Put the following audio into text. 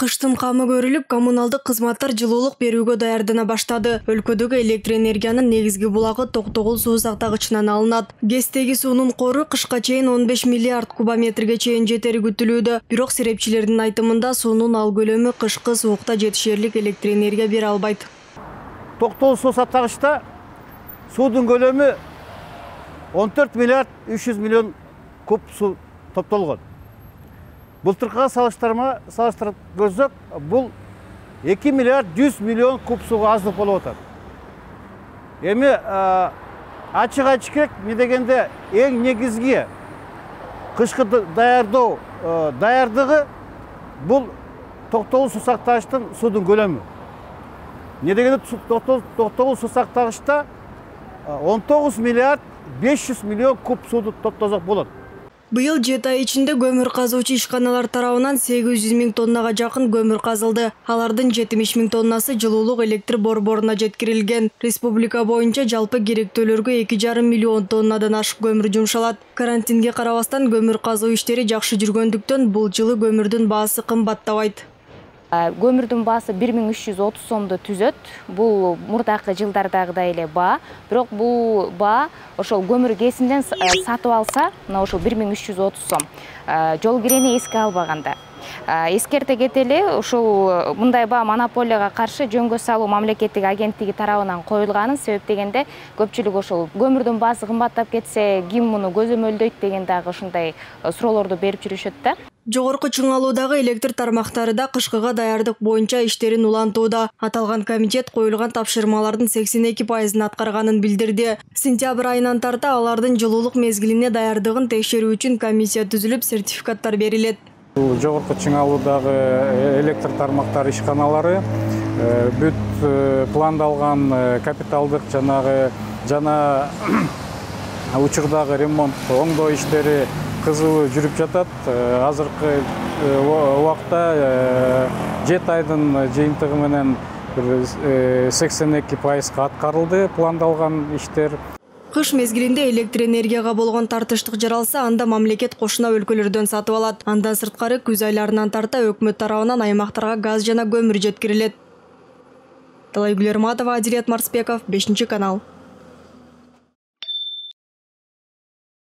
Кыштын камы көрүлүп, коммуналдык кызматтар жылуулук берүүгө даярдана баштады. Өлкөдөгү электр энергиянын негизги булагы Токтогул суу сактагычынан алынат. ГЭСтеги суунун кору кышка чейин 15 миллиард кубометрге чейин жетери күтүлүүдө. Бирок серепчилердин айтымында суунун ал көлөмү кышкы суукта жетишерлик электр энергия бере албайт. Токтогул суу сактагычта суудун көлөмү 14 миллиард 300 миллион куб суу топтолгон. Былтыркыга салыштырып көрсөк, бул 2 миллиард 100 миллион куб сууга аздык болуп атат. Эми ачык айтыш керек, эмне дегенде эң негизги кышкы даярдыгы бул Токтогул суу сактагычтын суудун көлөмү. Эмне дегенде Токтогул суу сактагычта 19 миллиард 500 миллион куб сууду топтосок болот. Быйыл 7 ай ичинде көмүр казуучу ишканалар тарабынан 800 миң тоннага жакын көмүр казылды. Алардын 70 миң тоннасы жылуулук электр борборуна жеткирилген. Республика боюнча жалпы керектөөлөргө 2,5 миллион тоннадан ашык көмүр жумшалат. Карантинге карабастан көмүр казуу иштери жакшы жүргөндүктөн бул жылы көмүрдүн баасы кымбаттабайт. Көмүрдүн баасы 1330 сомду түзөт. Бул мурдакы жылдардагыдай эле баа. Бирок бул баа ошол көмүр кесинден сатып алса, мына ошол 1330 сом. Жол кирени эске албаганда. Эскерте кетели, ошол мындай баа монополияга каршы жөнгө салуу мамлекеттик агенттиги тарабынан коюлганын, себеп дегенде көпчүлүк ошол көмүрдүн баасы кымбаттап кетсе, ким муну көзөмөлдөйт деген дагы ушундай суроолорду берип жүрүшөт да. Жогорку чыңалуудагы электр тармактары да кышкыга даярдык боюнча иштерин улантууда. Аталган комитет коюлган тапшырмалардын 82%ын аткарганын билдирди. Сентябрь айынан тарта алардын жылуулук мезгилине даярдыгын текшерүү үчүн комиссия түзүлүп, сертификаттар берилет. Жогорку чыңалуудагы электр тармактар ишканалары бүт пландалган капиталдык жана учурдагы ремонт оңдоо иштери кызуу жүрүп жатат. Азыркы убакта 7 айдын жыйынтыгы менен 82%га аткарылды пландалган иштер. Кыш мезгилинде электр энергияга болгон тартыштык жаралса, анда мамлекет кошуна өлкөлөрдөн сатып алат. Андан сырткары күз айларынан тарта өкмөт тарабынан аймактарга газ жана көмүр жеткирилет. Талайгүл Эрматова, Адилет Марсбеков, 5 канал.